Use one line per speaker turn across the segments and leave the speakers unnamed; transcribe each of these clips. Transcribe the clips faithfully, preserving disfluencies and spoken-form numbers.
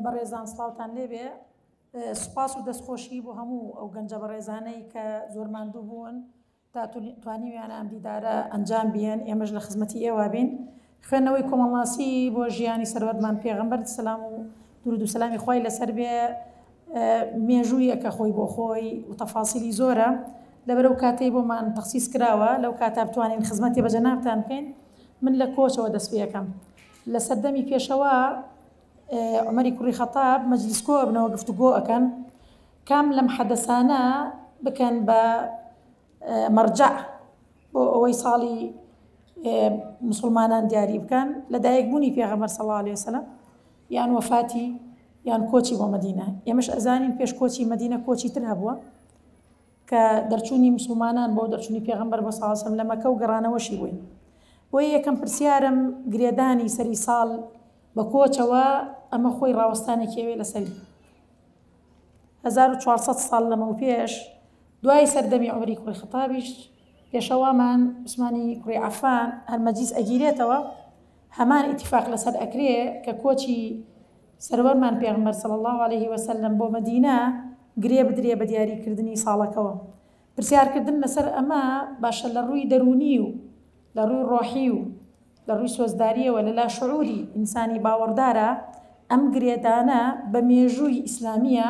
بەڕێزان سڵاوتان لێبێ. سوپاس و دەستخۆشی بۆ هەموو ئەو گەنجە بەڕێزانەی کە زۆر ماندوو بوون تا توانیویانە ئەم دیدارە ئەنجام بیەن، ئێمەش لە خزمەتی ئێوە بین. خوێندنەوەی کۆمەڵناسی بۆ ژیانی سەروەرمان پێغەمبەر سەلام و درود و سەلامی خوای لەسەر بێ مێژوویەکە خۆی بۆ خۆی و تەفاسیلی زۆرە، لەبەرەو کاتەی بۆمان تەخسیس کراوە لەو کاتە بتوانین خزمەتی بە جەنابتان بکەین. من لە کۆچەوە دەست پێ ئەکەم. لە سەردەمی پێشەوە عومەری کوڕی خەتاب مەجلیس کۆ ئەبنەوە گفتوگۆ ئەکەن کام لەم حەدەسانە بکەن بە مەرجەع بۆ ئەوەی ساڵی مسلمانان دیاری بکەن لە دایکبوونی پێغەمبەر صلی الله علیه وسلم یان وەفاتی یان کۆچی بۆ مەدینە. ئێمەش ئەزانین پێش کۆچی مەدینە کۆچی تر هەبووە کە دەرچوونی مسلمانان بۆ دەرچوونی پێغەمبەر بۆ صلی الله علیه وسلم لە مەکە و گەڕانەوەشی بووین. بۆیە یەکەم پرسیارم گرێدانی سەری ساڵ بە کۆچەوە ئەمە خۆی ڕاوەستانێکی ئەوێ لەسەری هەزار و چوارسەد ساڵ لەمەو پێش دوای سەردەمی عومەری کوڕی خەتابیش پێشەوامان عوسمانی کوڕی عەفان هەر مەجلیس ئەگیرێتەوە هەمان ئیتیفاق لەسەر ئەکرێ کە کۆچی سەروەرمان پێغەمبەر صلی الله علیه وسلم بۆ مەدینە گرێ بدرێ بە دیاریکردنی ساڵەکەوە. پرسیارکردن لەسەر ئەمە باشە لە ڕووی دەروونی و لە ڕووی ڕۆحی و لە ڕووی سۆزداریەوە لە لا شعوری ئینسانی باوەڕدارە ئەم گرێدانە بە مێژووی ئیسلامیە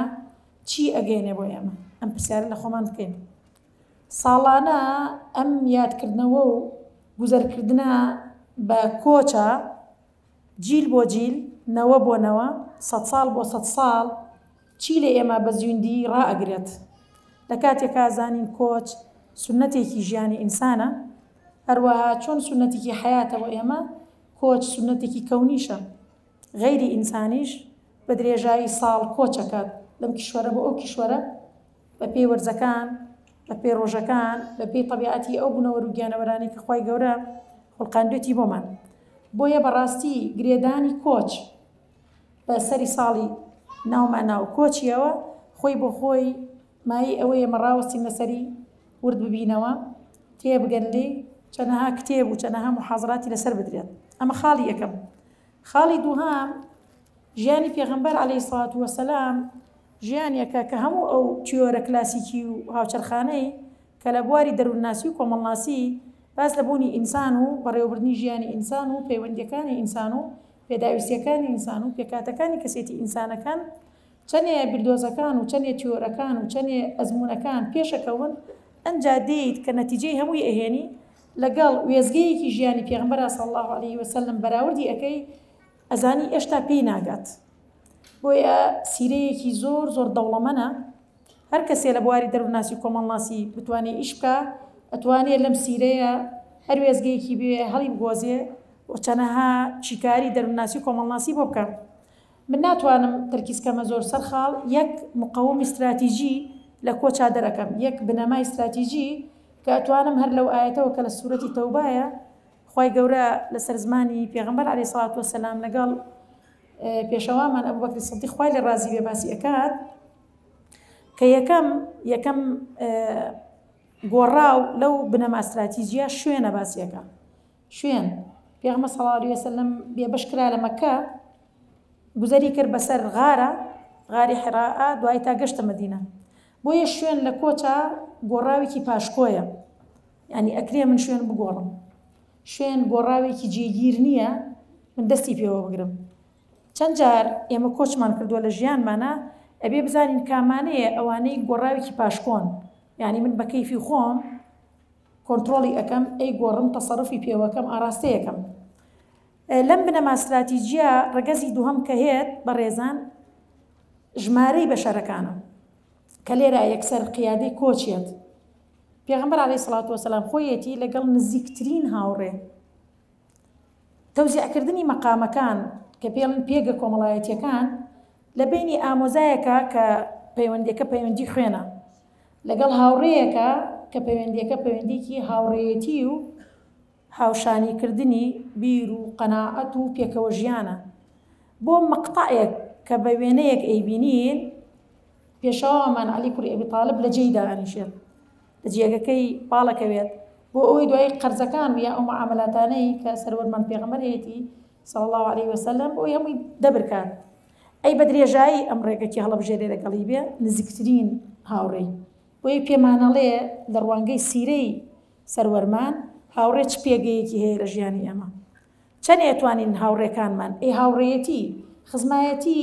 چی ئەگەینێ بۆ ئێمە؟ ئەم پرسیارە لە خۆمان بکەین. ساڵانە ئەم یادکردنەوە و گوزەرکردنە بە کۆچە جیل بۆ جیل، نەوە بۆ نەوە، سەد ساڵ بۆ سەد ساڵ چی لە ئێمە بە زیندی ڕائەگرێت؟ لە کاتێکا زانین کۆچ سونەتێکی ژیانی ئینسانە، هەروەها چۆن سونەتێکی حەیاتە بۆ ئێمە، کۆچ سونەتێکی کەونیشە. غەیری ئینسانیش بە درێژایی ساڵ کۆچەکات لەم کیشوەرە بۆ ئەو کیشوەرە بە پێی وەرزەکان، بە پێی ڕۆژەکان، بە پێی تەبیعەتی ئەو بوونەوەر و گیانەوەرانەی کە خوای گەورە خوڵقاندوێتی بۆمان. بۆیە بەڕاستی گرێدانی کۆچ بە سەری ساڵی ناومان ناو کۆچیەوە خۆی بۆ خۆی مایی ئەوەیە ئێمە ڕاوەستین لەسەری ورد ببینەوە، تێبگەن لێی، چەنەها کتێب و چەنەها محازراتی لەسەر بدرێت. ئەمە خاڵی یەکەم. خاڵی دووهام ژیانی پێغەمبەر عەلەیهی سڵات وەسەلام ژیانێکە کە هەموو ئەو تیۆرە کلاسیکی و هاوچەرخانەی کە لە بواری دەروونناسی و کۆمەڵناسی باس لە بوونی ئینسان و بەڕێوەبردنی ژیانی ئینسان و پەیوەندیەکانی ئینسان و پێداویستیەکانی ئینسان و پێکاتەکانی کەسێتی ئینسانەکان چەنێ بیردۆزەکان و چەنێ تیۆرەکان و چەنێ ئەزمونەکان پێشەکەون، ئەنجا دێیت کە نەتیجەی هەمووی ئەهێنی لەگەڵ وێزگەیەکی ژیانی پێغەمبەر صلی الله علیه وسلم بەراوردی ئەەکەی ئەزانی ئێشتا پێی ناگات. بۆیە سیرەیەکی زۆر زۆر دەوڵەمەنە. هەر کەسێ لە بواری دەروونناسی و کۆمەڵناسی بتوانێت ئیش بکە، ئەتوانێت لەم سیرەیە هەر وێزگەیەکی بێ هەڵی بگۆزێ و چەنەها شیکاری دەروونناسی و کۆمەڵناسی بۆ بکە. من ناتوانم تەرکیز کەمە زۆر سەر خاڵ، یەک مقەومی استراتیژی لە کۆچا دەرەکەم، یەک بنەمای استراتیژی کە ئەتوانم هەر لەو ئایەتەوە کە لە سوورەتی تەوبایە خوای گەورە لەسەر زمانی پێغەمبەر عەلەیهی سڵات وەسەلام لەگەڵ پێشەوامان ئەبوبەکری سدیق خوای لێ ڕازی بێ باسی ئەکات کە یەکەم یەکەم گۆڕاو لەو بنەما استراتیژیە شوێنە باسیەکە. شوێن پێغەمبەر صلی الله علیه وسلم بێبەش کرا لە مەکە، گوزەری کرد بەسەر غارە، غاری حراء، دوای تا گەشتە مەدینە. بۆیە شوێن لە کۆچە گۆڕاوێکی پاشکۆیە، یعنی ئەکرێ من شوێن بگۆڕم. شوێن گۆڕاوێکی جێگیر نییە من دەستی پێوە بگرم. چەند جار ئێمە کۆچمان کردووە لە ژیانمانە، ئەبێ بزانین کامانەیە ئەوانەی گۆڕاوێکی پاشکۆن، یعنی من بە کەیفی خۆم کۆنترۆڵی ئەەکەم، ئەی گۆڕم، تەسەڕفی پێوەکەم، ئاراستەیەکەم. لەم بنەما استراتیژیە ڕەگەزی دووهەم کە هێت بەڕێزان ژمارەی بەشەرەکانە کە لێرە یەکسەر قیادەی کۆچێت. پێغەمبەر عەلەیهی سڵات وەسەلام خۆیەتی لەگەڵ نزیکترین هاوڕێ. تەوزیعکردنی مەقامەکان کە پێڵن پێگە کۆمەڵایەتیەکان لە بینی ئامۆزایەکە کە پەیوەندیەکە پەیوەندی خوێنە، لەگەڵ هاوڕێیەکە کە پەیوەندیەکە پەیوەندیکی هاوڕێیەتی و هاوشانیکردنی بیر و قەناعەت و پێکەوە ژیانە. بۆ مەقطعێک کە بە وێنەیەک ئەیبینین پێشەوامان عەلی کوڕی ئەبی تاڵب لە جێیدا ئەنیشێت، لە جێگەکەی پاڵەکەوێت بۆ ئەوەی دوای قەرزەکان یا ئەو معاملاتانەی کە سەروەرمان پێغەمبەر هەیەتی صلی الله علیه وسلم بۆ هەمووی دەبرکات. ئەی بە درێژایی ئەم ڕێگەکی هەڵەبژێرێ لەگەڵی بێ نزیکترین هاوڕێی. بۆیە پێمانەڵێ لە ڕوانگەی سیرەی سەروەرمان هاوڕێ چ پێگەیەکی هەیە لە ژیانی ئێمە، چەند ئەتوانین هاوڕێکانمان ئەی هاوڕێیەتی خزمایەتی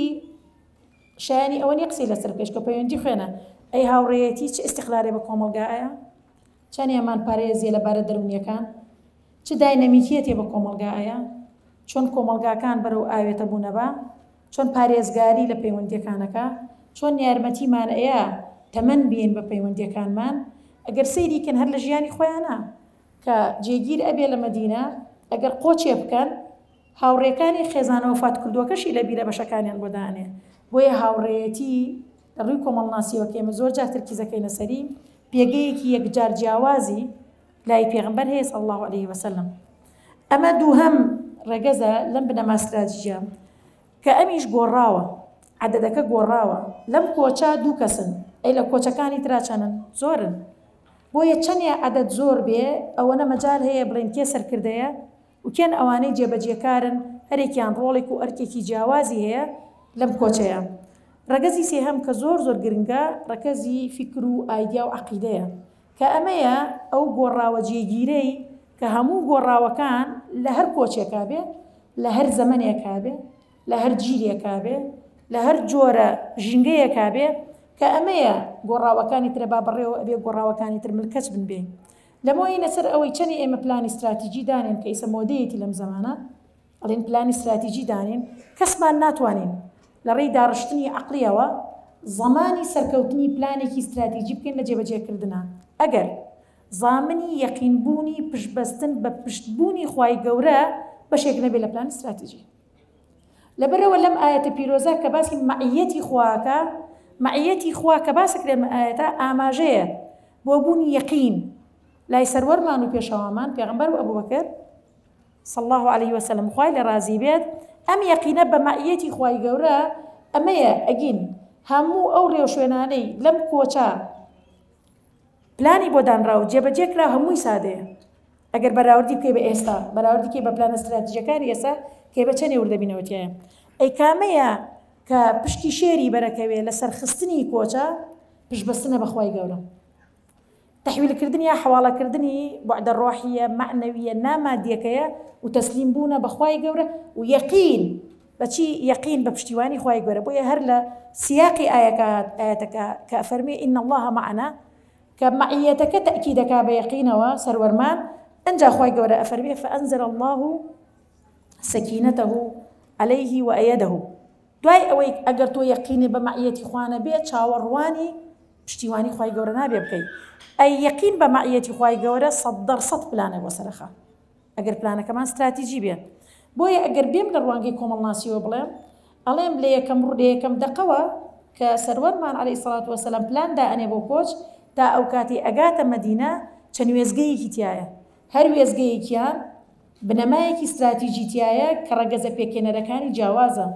شایانی ئەوە نییە قسەی لەسەر بکەیت کە پەیوەندی خوێنە، ئەی هاوڕێیەتی چ ئیستیقلالێ بە کۆمەڵگایە، چەند ئێمان پارێزیە لە بارە دەروونیەکان، چ داینەمیکیەتێ بە کۆمەڵگایە، چۆن کۆمەڵگاکان بەرەو ئاوێتە بوونە بە، چۆن پارێزگاری لە پەیوەندیەکانەکە، چۆن یارمەتیمان ئەیە تەمەن بین بە پەیوەندیەکانمان. ئەگەر سەیریکەن هەر لە ژیانی خۆیانە کە جێگیر ئەبێ لە مەدینە، ئەگەر قۆچێ بکەن هاوڕێکانی خێزانە وەفات کردووەکەشی لە بیرە بەشەکانیان بۆ دانێ. بۆیە هاوڕێیەتی لە ڕووی کۆمەڵناسیەوە کە ئێمە زۆر جار تەرکیزەکەینە سەری پێگەیەکی یەکجار جیاوازی لای پێغەمبەر هەیە صلی الله علیه وسلم. ئەمە دووهەم ڕێگەزە لەم بنەما ستراتیژیە کە ئەمیش گۆڕاوە، عەدەدەکە گۆڕاوە. لەم کۆچە دوو کەسن، ئەی لە کۆچەکانی ترا چەنن؟ زۆرن. بۆیە چەندێ عەدەد زۆر بێ ئەوەنە مەجال هەیە بڵێن کێ سەرکردەیە و کێن ئەوانەی جێبەجێکارن، هەرێکیان ڕۆڵێک و ئەرکێکی جیاوازی هەیە لەم کۆچەیە. ڕەگەزی سێهەم کە زۆر زۆر گرنگە ڕەگەزی فیکر و ئایدیا و عەقیدەیە، کە ئەمەیە ئەو گۆڕاوە جێگیرەی کە هەموو گۆڕاوەکان لە هەر کۆچێکا بێ، لە هەر زەمەنێکا بێ، لە هەر جیرێکا بێ، لە هەر جۆرە ژینگەیەکا بێ، کە ئەمەیە گۆڕاوەکانی ترە با بەڕێوە ئەبێ گۆڕاوەکانی تر ملکەچ بن بێ. لەمەوەی لەسەر ئەوەی چەنی ئێمە پلانی استراتیژی دانێن کە ئیسە مۆدەیەتی لەم زەمانە ئەڵێن پلانی استراتیژی دانێن، کەسمان ناتوانین لە ڕێی داڕشتنی عەقڵیەوە زەمانی سەرکەوتنی پلانێکی استراتیژی بکەین لە جێبەجێکردنە. ئەگەر زامنی یەقینبوونی پشتبەستن بە پشتبوونی خوای گەورە بەشێک نەبێ لە پلانی استراتیژی. لەبەرەوە لەم ئایەتە پیرۆزە کە باسی مەعیەتی خواکە، مەعیەتی خوا کە باسەکرێت لەم ئایەتە ئاماژەیە بۆ بوونی یەقین لای سەروەرمان و پێشەوامان پێغەمبەر و ئەبوبەکر صلی الله علیه وسلم خوای لێ ڕازی بێت. ئەم یەقینە بە مەعیەتی خوای گەورە ئەمەیە ئەگین هەموو ئەو ڕێوشوێنانەی لەم کۆچە پلانی بۆ دانرا و جێبەجێ کرا هەمووی سادەیە. ئەگەر بەراوردی بکەی بە ئێستا، بەراوردی بکەی بە پلانە استراتیژەکانی ئێستا کێ بە چەندێ وردەبینەوە تیایە. ئەی کامەیە کە پشتی شێری بەرەکەوێ لە سەرخستنی کۆچە پشتبەستنە بە خوای گەورە، تەحویلکردنی یا حەواڵەکردنی بوعدە ڕۆحیە مەعنەویە نامادیەکەیە و تەسلیم بوونە بە خوای گەورە و یەقین بەچی یەقین بە پشتیوانی خوای گەورە. بۆیە هەر لە سیاقی ئاەتەکە کە فەرمی ئین الله معنا کە مەعیەتەکە تەئکیدەکا بە یەقینەوە سەروەرمان، ئەنجا خوای گەورە ئەفەرمێ فأنزل الله سكينته عليه وأيده. دوای ئەوەی ئەگەر تۆ یەقینی بە مەعیەتی خوا نەبێ چاوەڕوانی پشتیوانی خوای گەورە نابێ بکەی. ئەی یەقین بە مەعیەتی خوای گەورە سەد دەر سەد پلانە بۆ سەرەخە ئەگەر پلانەکەمان استراتیژی بێ. بۆیە ئەگەر بێم لە ڕوانگەی کۆمەڵناسیەوە بڵێم ئەڵێم لە یەکەم لە یەکەم دەقەوە کە سەروەرمان عەلەیهی سەڵات وەسەلام پلان دائەنێ بۆ کۆچ تا ئەو کاتی ئەگاتە مەدینە چەند وێزگەیەکی تایە، هەر وێزگەیەکیان بنەمایەکی استراتیژی تایە کە ڕەگەزە پێکهێنەرەکانی جیاوازە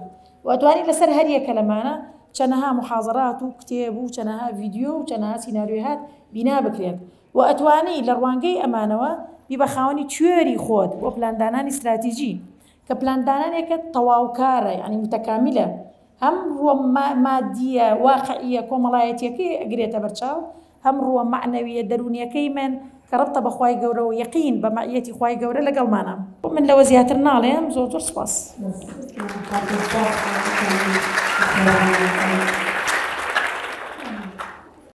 و ئەتوانین لەسەر هەر یەکە لەمانە چەنەها محاضرات و کتێب و چەنەها ڤیدیۆ و چەنەها سیناریۆهات بینا بکرێت و ئەتوانی لە ڕوانگەی ئەمانەوە بی بە خاوەنی تیۆری خۆت بۆ پلاندانانی استراتیژی کە پلاندانانێکە تەواوکارە، یعنی متەکامیلە، هەم ڕووە مادیە واقعیە کۆمەڵایەتیەکەی ئەگرێتە بەرچاو، هەم ڕووە مەعنەویە دەروونیەکەی من کە ڕەبتە بە خوای گەورە و یەقین بە مەعیەتی خوای گەورە لەگەڵمانە. من لەوە زیاتر ناڵێم. زۆر زۆر سوپاس.
Thank you.